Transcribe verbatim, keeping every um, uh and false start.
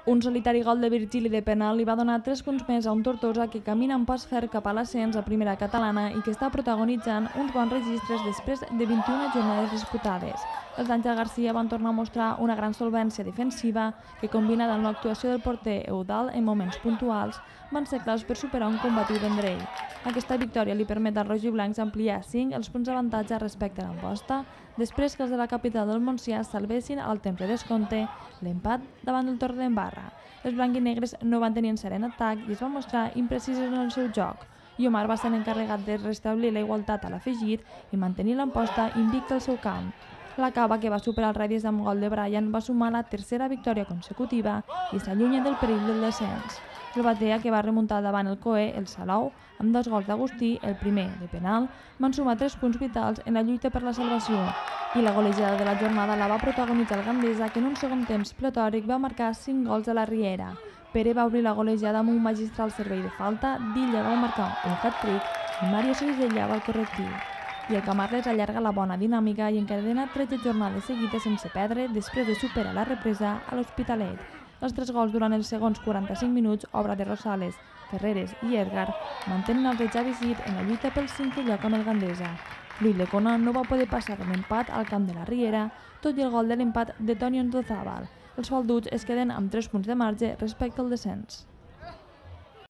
Un solitari gol de Virgili de penal li va donar tres punts més a un Tortosa que camina amb pas ferm cap a l'ascens a primera catalana i que està protagonitzant uns bons registres després de vint-i-una jornades disputades. Els d'Àngel Garcia van tornar a mostrar una gran solvència defensiva que, combinada amb l'actuació del porter Eudald en moments puntuals, van ser claus per superar un combatiu Vendrell. Aquesta victòria li permet als rojiblancs ampliar cinc els punts d'avantatge respecte a l'Amposta, després que els de la capital del Montsià salvessin al temps de descompte l'empat davant del Torredembarra. Els blanc-i-negres no van tenir encert en atac i es van mostrar imprecisos en el seu joc. I Omar va ser l'encarregat de restablir la igualtat a l'afegit i mantenir l'Amposta invicta al seu camp. La Cava, que va superar el Redies amb gol de Brian, va sumar la tercera victòria consecutiva i s'allunya del perill del descens. El Batea, que va remuntar davant el Coe, el Salou, amb dos gols d'Agustí, el primer de penal, van sumar tres punts vitals en la lluita per la salvació. I la golejada de la jornada la va protagonitzar el Gandesa, que en un segon temps platòric va marcar cinc gols a la Riera. Pere va obrir la golejada amb un magistral servei de falta, Dilla va marcar un hat-trick i Mario Sevilla va al correctiu. I el Camarles allarga la bona dinàmica i encadena tretze jornades seguides sense perdre després de superar la represa a l'Hospitalet. Els tres gols durant els segons quaranta-cinc minuts, obra de Rosales, Ferreres i Edgar, mantenen el Reig Visit en la lluita pel cinquè lloc amb el Gandesa. Luis Lecona no va poder passar l'empat al camp de la Riera, tot i el gol de l'empat de Toni Ondozábal. Els falduts es queden amb tres punts de marge respecte al descens.